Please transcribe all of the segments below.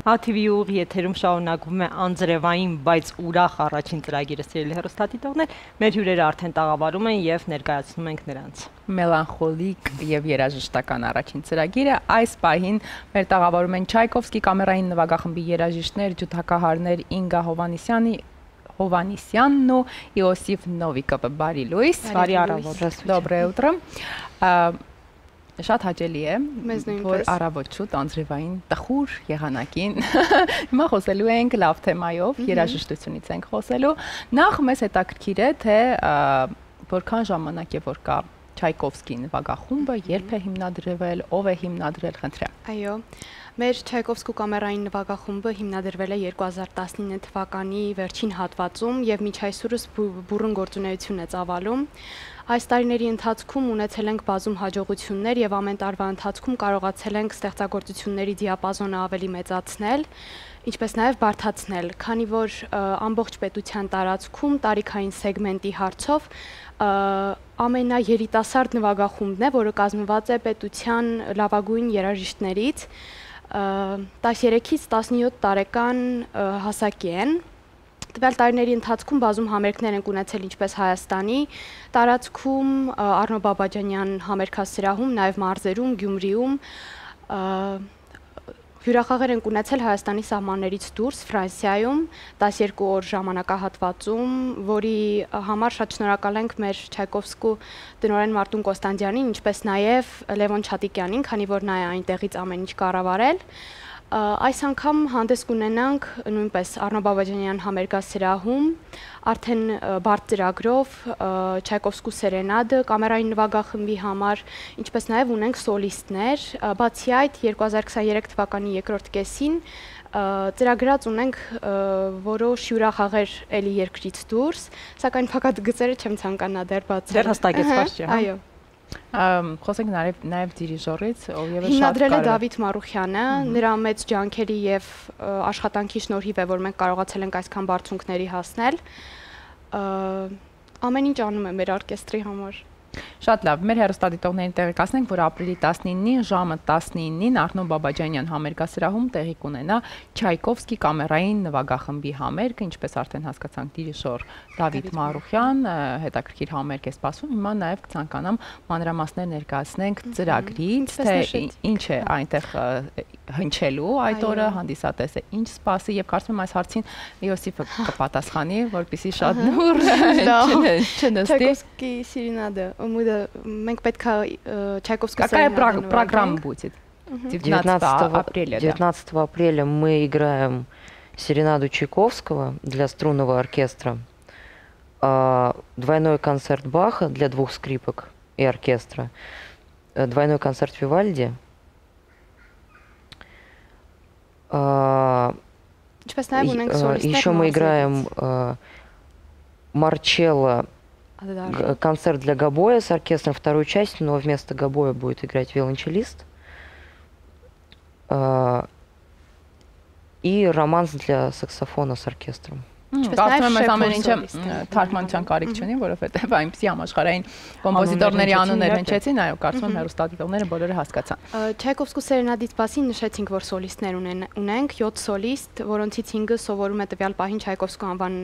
ATV ուղի եթերում շարունակվում է անձրևային, բայց ուրախ առաջին ծրագիրը սիրելի հեռուստադիտողներ, մեր հյուրերը արդեն տաղավարում են եւ ներկայացնում ենք նրանց։ Մելանխոլիկ եւ երաժշտական առաջին ծրագիրը այս պահին մեր տաղավարում են Չայկովսկի կամերային նվագախմբի երաժիշտներ, ջութակահարներ Ինգա Հովանիսյանն ու Իոսիֆ Նովիկովը։ Բարի լույս։ Բարի առավոտ։ Доброе утро։ Շատ հաճելի է, որ առավոտ շուտ անձրևային տխուր եղանակին հիմա խոսելու ենք լավ թեմայով, երաժշտությունից ենք խոսելու։ Նախ մեզ հետաքրքիր է, թե որքան ժամանակ է որ կա Չայկովսկի նվագախումբը, երբ է հիմնադրվել, ով է հիմնադրել, խնդրեմ։ Այո, մեր Չայկովսկու կամերային նվագախումբը հիմնադրվել է 2019 թվականի վերջին հատվածում եւ մինչ այսօրս բուռն գործունեություն է ծավալում։ Այս տարիների ընթացքում ունեցել ենք բազում հաջողություններ եւ ամեն տարվա ընթացքում կարողացել ենք ստեղծագործությունների դիապազոնը ավելի մեծացնել, ինչպես նաեւ բարդացնել, քանի որ ամբողջ պետության տարածքում տարիքային սեգմենտի հարցով ամենաերիտասարդ նվագախումբն է, որը կազմված է պետության լավագույն երաժիշտներից, 13-ից 17 տարեկան հասակի են։ Տվյալ տարիների ընթացքում բազում համերգներ են ունեցել ինչպես Հայաստանի տարածքում, Արնո Բաբաջանյան համերգասրահում, նաև մարզերում, Գյումրիում, հյուրախաղեր են ունեցել Հայաստանի սահմաններից դուրս, Ֆրանսիայում, 12 օր ժամանակահատվածում, որի համար շատ շնորհակալ ենք մեր Չայկովսկու տնօրեն Մարտուն Կոստանդյանին, ինչպես նաև Լևոն Չատիկյանին, քանի որ նա է այնտեղից ամեն ինչ կառավարել։ Այս անգամ հանդես կունենանք նույնպես Արնո Բաբաջանյան համերգասրահում, արդեն բարդ ծրագրով Չայկովսկու սերենադը կամերային նվագախմբի համար, ինչպես նաև ունենք սոլիստներ, բացի այդ 2023 թվականի երկրորդ կեսին ծրագրած ունենք որոշ հյուրախաղեր էլի երկրից դուրս, սակայն փակած գծերը չեմ ցանկանա դեռ բացել։ Դեռ հստակեցված չէ, հա։ Այո։ Խոսենք նաև դիրիժորից, ով եւս շատ հիմնադրել է Դավիթ Մարուխյանը, նրա մեծ ջանքերի եւ աշխատանքի շնորհիվ է, որ մենք կարողացել ենք այսքան բարձունքների հասնել։ Ամեն ինչ անում է մեր օրկեստրի համար։ Շատ լավ, մեր հեռուստադիտողներին տեղեկացնենք, որ ապրիլի 19-ին ժամը 19-ին Արնո Բաբաջանյան համերգասրահում տեղի կունենա Չայկովսկի կամերային նվագախմբի համերգը, ինչպես արդեն հասկացանք, դիրիժոր Դավիթ Մարուխյան, հետաքրքիր համերգ է սպասում, հիմա նաև կցանկանամ մանրամասներ ներկայացնենք ծրագրից, թե ինչ է այնտեղ հնչելու այդ օրը, հանդիսատեսը ինչ սպասի եւ կարծում եմ այս հարցին Իոսիֆը կպատասխանի, որպեսզի շատ նուր չնստի։ Չայկովսկի սերենադը, մենք պետք է Չայկովսկու Какая программа будет? 19 апреля. 19 апреля мы играем серенаду Чайковского для струнного оркестра, двойной концерт Баха для 2 скрипок и оркестра, двойной концерт Вивальди. Еще мы играем Марчелло, концерт для гобоя с оркестром, вторую часть, но вместо гобоя будет играть виолончелист. И романс для саксофона с оркестром. Կարծում եմ այս ամեն ինչը թարգմանության կարիք չունի, որովհետև այնպիսի համաշխարհային կոմպոզիտորների անուններ հնչեցին, այո, կարծում եմ հեռուստադիտողները բոլորը հասկացան։ Չայկովսկու սերենադից բացի նշեցինք, որ սոլիստներ ունենք, 7 սոլիստ, որոնցից 5-ը սովորում է տվյալ պահին Չայկովսկու անվան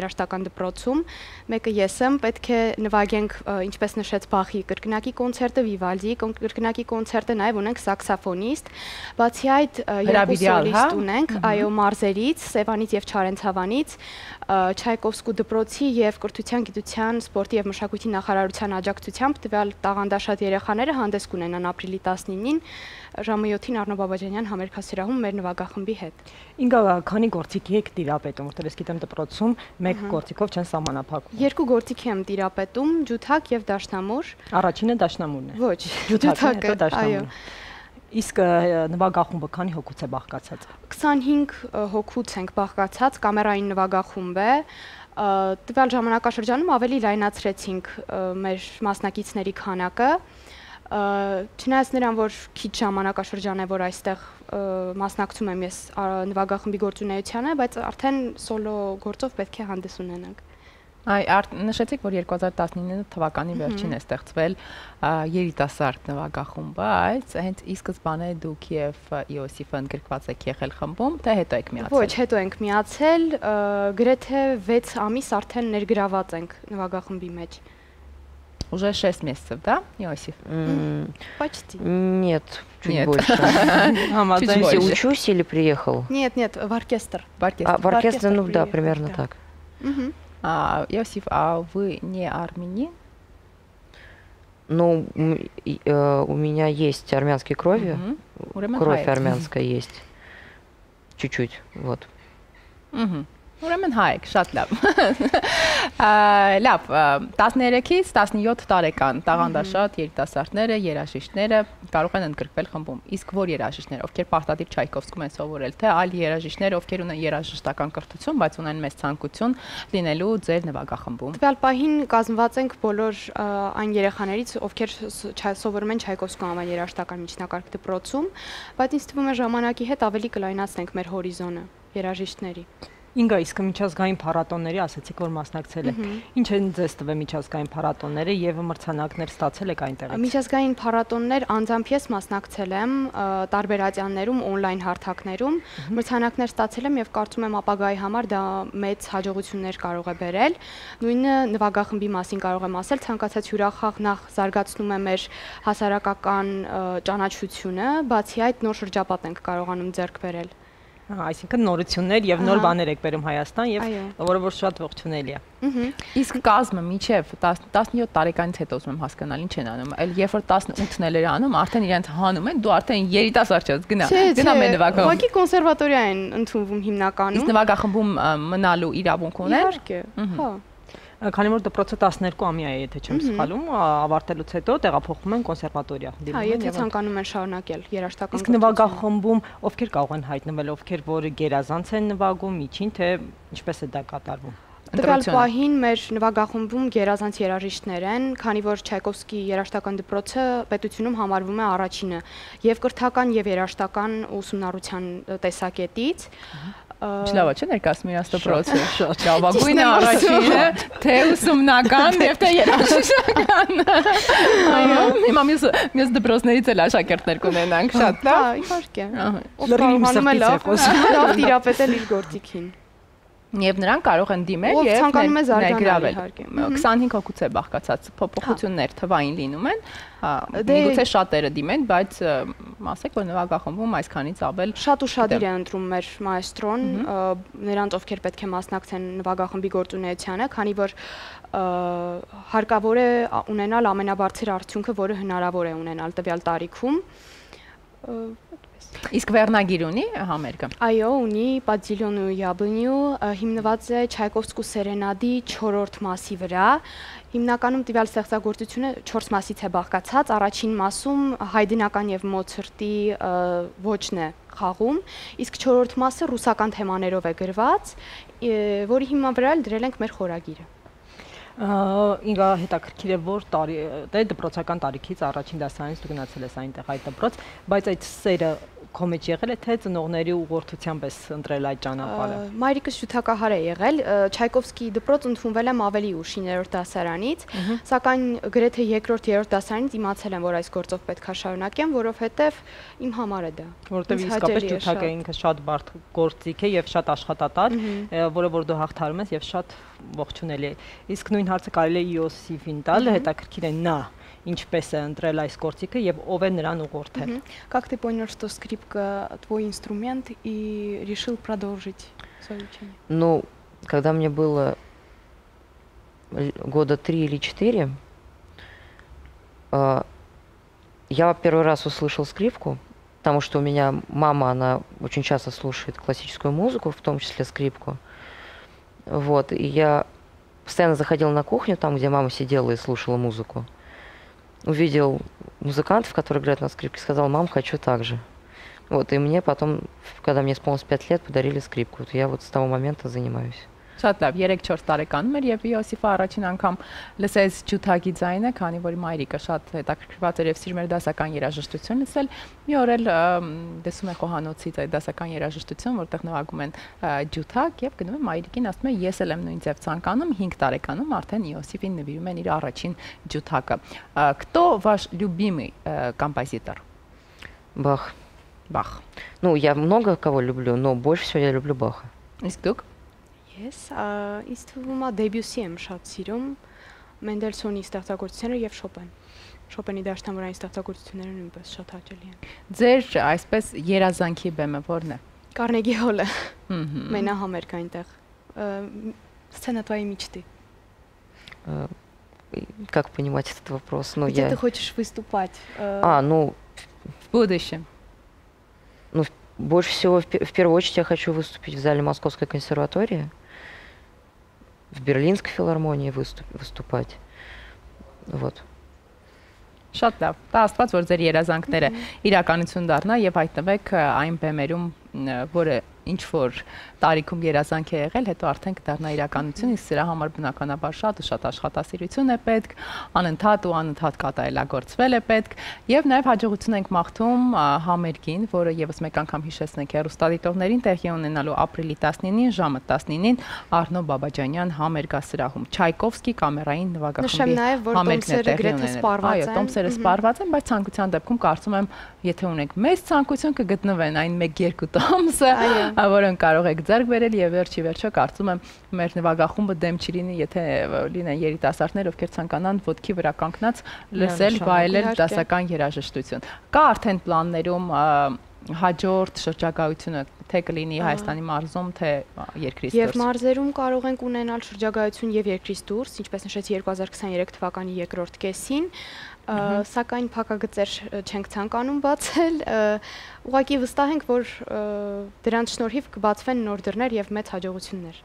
երաժշտական դպրոցում, մեկը ես եմ, պետք է նվագենք, ինչպես նշեց Բախի կրկնակի կոնցերտը, Վիվալդիի կրկնակի կոնցերտը, նաև ունենք սաքսոֆոնիստ, բացի այդ 2 սոլիստ ունենք, այո, մարզերից, Սևանից եւ Չարենցավանից, Չայկովսկու դպրոցի եւ կրթության, գիտության, սպորտի եւ մշակույթի նախարարության աջակցությամբ տվյալ տաղանդաշատ երեխաները հանդես կունենան ապրիլի 19-ին ժամը 7-ին Արնո Բաբաջանյան համերգասրահում մեր նվագախմբի հետ։ Ինգա, քանի գործիք եք տիրապետում, որտեղ ես գիտեմ դպրոցում մեկ գործիքով չեն սահմանափակվում։ 2 գործիք եմ տիրապետում, ջութակ եւ դաշնամուր։ Առաջինը դաշնամուրն է։ Ոչ, ջութակը, այո։ Իսկ նվագախումբը քանի հոգուց է բաղկացած։ 25 հոգուց ենք բաղկացած, կամերային նվագախումբ է։ Տվյալ ժամանակաշրջանում ավելի լայնացրեցինք մեր մասնակիցների քանակը։ Չնայած նրան, որ քիչ ժամանակաշրջան է, որ այստեղ մասնակցում եմ ես նվագախմբի գործունեությանը, բայց արդեն սոլո գործով պետք է հանդես ունենանք։ Նշեցիք, որ 2019 թվականի վերջին է ստեղծվել երիտասարդ նվագախումբը, բայց հենց ի սկզբանե դուք եւ Իոսիֆը ընդգրկված եք եղել խմբում, թե հետո եք միացել։ Ոչ, հետո ենք միացել, գրեթե 6 ամիս արդեն ներգրաված ենք նվագախմբի մեջ։ Уже 6 месяцев, да, Иосиф? Почти. Нет, чуть больше. Ты учусь или приехал? Нет, в оркестр. В оркестр, ну да, примерно так. Иосиф, а вы не армянин? Ну, у меня есть армянские крови. Кровь армянская есть. Чуть-чуть, вот. Ուրեմն հայ եք, շատ լավ։ Լավ, 13-ից 17 տարեկան տաղանդաշատ երիտասարդները, երաժիշտները կարող են ընդգրկվել խմբում։ Իսկ որ երաժիշտներ, ովքեր պարտադիր Չայկովսկում են սովորել, թե այլ երաժիշտներ, ովքեր ունեն երաժշտական կրթություն, բայց ունեն մեծ ցանկություն լինելու ձեր նվագախմբում։ Տվյալ պահին կազմված ենք բոլոր այն երեխաներից, ովքեր սովորում են Չայկովսկու անվան երաժշտական միջնակարգ դպրոցում, բայց ինձ թվում է ժամանակի հետ ավելի կլայնացնենք մեր հորիզոնը երաժիշտների։ Ինգա, իսկ միջազգային փառատոների ասացիք, որ մասնակցել եք։ Ինչ են ձեզ տվել միջազգային փառատոները եւ մրցանակներ ստացել եք այնտեղից։ Միջազգային փառատոներ անձամբ ես մասնակցել եմ տարբեր ատյաններում, on-line հարթակներում, մրցանակներ ստացել եմ եւ կարծում եմ ապագայի համար դա մեծ հաջողություններ կարող է բերել։ Նույնը նվագախմբի մասին կարող եմ ասել, ցանկացած հյուրախաղ նախ զարգացնում է մեր հասարակական ճանաչությունը, բացի այդ նոր շրջապատ ենք կարողանում ձեռք բերել։ Այսինքն նորություններ եւ նոր բաներ եք բերում Հայաստան եւ որը որ շատ ողջունելի է։ Իսկ կազմը միջև 17 տարեկանից հետո ուզում եմ հասկանալ ինչ են անում։ Այլ երբ որ 18-ն էլ էր անում, արդեն իրենց հանում են, դու արդեն երիտասարդ ես, գնա մեր նվագախմբում։ Ուղղակի կոնսերվատորիա են ընդունվում հիմնականում։ Իսկ նվագախմբում մնալու իրավունք ունեն։ Իհարկե, հա։ Քանի որ դպրոցը 12 ամյա է, եթե չեմ սխալվում, ավարտելուց հետո տեղափոխվում են կոնսերվատորիա։ Հա, եթե ցանկանում են շարունակել երաժշտական։ Իսկ նվագախմբում ովքեր կարող են հայտնվել, ովքեր որ գերազանց են նվագում, միջին թե ինչպես է դա կատարվում։ Տվյալ պահին մեր նվագախմբում գերազանց երաժիշտներ են, քանի որ Չայկովսկի երաժշտական դպրոցը պետությունում համարվում է առաջինը եւ կրթական եւ երաժշտական ուսումնառության տեսակետից։ Լավ է, չէ՞ ներկայացնում իրաց դպրոցը։ Շատ լավագույնը առաջինը, թե ուսումնական եւ թե երաժշտական։ Այո, հիմա մյուս դպրոցներից էլ աշակերտներ կունենանք, շատ լավ։ Հա, իհարկե։ Ով կարողանում է լավ տիրապետել իր գործիքին։ Եվ նրանք կարող են դիմել եւ ներգրավել։ 25 հոգուց է բաղկացած փոփոխություններ թվային լինում են։ Միգուցե շատերը դիմեն, բայց ասեք, որ նվագախմբում այսքանից ավել շատ ուշադիր է ընտրում մեր մայստրոն, նրանց ովքեր պետք է մասնակցեն նվագախմբի գործունեությանը, քանի որ հարկավոր է ունենալ ամենաբարձր արդյունքը, որը հնարավոր է ունենալ տվյալ տարիքում։ Իսկ վերնագիր ունի համերգը։ Այո, ունի Падзիլյոնու Յաբլնյու, հիմնված է Չայկովսկու սերենադի 4-րդ մասի վրա։ Հիմնականում տվյալ ստեղծագործությունը 4 մասից է բաղկացած, առաջին մասում Հայդնական եւ Մոցարտի ոճն է խաղում, իսկ 4-րդ մասը ռուսական թեմաներով է գրված, որի հիման վրա էլ դրել ենք մեր խորագիրը։ Ինգա հետաքրքիր է որ տարի դե դպրոցական տարիքից առաջին դասարանից դու գնացել ես այնտեղ այդ դպրոց, բայց այդ սերը քո մեջ եղել է թե ծնողների ուղղորդությամբ ես ընտրել այդ ճանապարհը։ Մայրիկս ջութակահար է եղել, Չայկովսկի դպրոց ընդունվել եմ ավելի ուշ 9-րդ դասարանից, սակայն գրեթե 2-րդ դասարանից իմացել եմ, որ այս գործով պետք է շարունակեմ, որովհետև իմ համար է դա։ Որովհետև իսկապես ջութակը ինքը շատ բարդ գործիք է եւ շատ աշխատատար, որը որ դու հաղթարում ես եւ շատ ողջունելի է։ Իսկ նույն հարցը կարելի է Իոսիֆին տալ, հետաքրքիր է նա ինչպես է ընտրել այս գործիքը եւ ով է նրան угорթել։ Как ты понял, что скрипка твой инструмент и решил продолжить свое учение? Ну, когда мне было года 3 или 4, я первый раз услышал скрипку, потому что у меня мама, она очень часто слушает классическую музыку, в том числе скрипку. Вот, и я постоянно заходила на кухню, там, где мама сидела и слушала музыку. Увидел музыкантов, которые играют на скрипке, сказал: мам, хочу так же. Вот, и мне потом, когда мне исполнилось 5 лет, подарили скрипку. Вот я вот с того момента занимаюсь. Շատ լավ, 3-4 տարեկանում էր եւ Իոսիֆը առաջին անգամ լսեց ջութակի ձայնը, քանի որ Մայրիկը շատ հետաքրքրված էր եւ սիրում էր դասական երաժշտություն լսել։ Մի օր էլ դեսում է խոհանոցից այդ դասական երաժշտություն, որտեղ նվագում են ջութակ եւ գնում է Մայրիկին, ասում է ես էլ եմ նույն ձև ցանկանում, 5 տարեկանում արդեն Իոսիֆին նվիրում են իր առաջին ջութակը։ Кто ваш любимый композитор? Бах. Бах. Ну, я много кого люблю, но больше всего я люблю Баха. Իսկ դուք? Ես ինձ թվում է Դեբյուսի եմ շատ սիրում, Մենդելսոնի ստեղծագործությունները եւ Շոպենի դաշնամուրային ստեղծագործությունները նույնպես շատ հաճելի են։ Ձեր այսպես երազանքի բեմը ո՞րն է։ Կարնեգի հոլը։ Մենահամերգ այնտեղ։ Սցենա твоей мечты. Как понимать этот вопрос? Ну, Где ты хочешь выступать? Ну... В будущем. Ну, больше всего, в первую очередь, я хочу выступить в зале Московской консерватории, в Берлинской филармонии выступать. Вот. Շատ լավ։ Դա աստված որ ձեր երազանքները իրականություն դառնա եւ հայտնվեք այն բեմերում, որը ինչ որ տարիքում երազանք է եղել, հետո արդեն կդառնա իրականություն, իսկ սրա համար բնականաբար շատ ու շատ աշխատասիրություն է պետք, անընդհատ կատարելագործվել է պետք եւ նաեւ հաջողություն ենք մաղթում համերգին, որը եւս մեկ անգամ հիշեցնենք հեռուստադիտողներին տեղի ունենալու ապրիլի 19-ին ժամը 19-ին Արնո Բաբաջանյան համերգասրահում Չայկովսկի կամերային նվագախմբի համերգն է տեղի ունենել։ Այո, տոմսերը սպառված են, բայց ցանկության դեպքում կարծում եմ, եթե ունենք մեծ ցանկություն կգտնվեն այն 1-2 տոմսը, որոնք կարող եք ձեռք բերել եւ վերջի վերջո կարծում եմ մեր նվագախումբը դեմ չի լինի, եթե լինեն երիտասարդներ, ովքեր ցանկանան ոտքի վրա կանգնած լսել, վայելել դասական երաժշտություն։ Կա արդեն պլաններում հաջորդ շրջագայությունը թե կլինի Հայաստանի մարզում, թե երկրից դուրս։ Եվ մարզերում կարող ենք ունենալ շրջագայություն եւ երկրից դուրս, ինչպես նշեցի 2023 թվականի երկրորդ կեսին, սակայն փակագծեր չենք ցանկանում բացել, ուղղակի վստահ ենք, որ դրանց շնորհիվ կբացվեն նոր դռներ եւ մեծ հաջողություններ։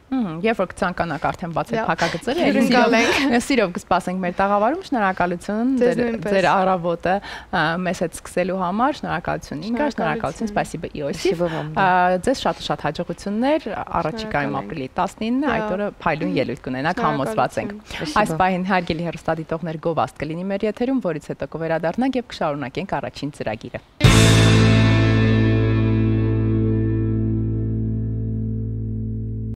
Երբ որ կցանկանաք արդեն բացել փակագծերը, սիրով կսպասենք մեր տաղավարում, շնորհակալություն ձեր առավոտը մեզ հետ սկսելու համար, շնորհակալություն Ինգա, շնորհակալություն, սպասիբա Իոսիֆ։ Ձեզ շատ հաջողություններ առաջիկայում ապրիլի 19-ը, այդ օրը փայլուն ելույթ կունենաք, համոզված ենք։ Այս պահին հարգելի հեռուստադիտողներ, գովազդ կլինի մեր եթերում, որից հետո կվերադառնանք եւ կշարունակենք առաջին ծրագիրը։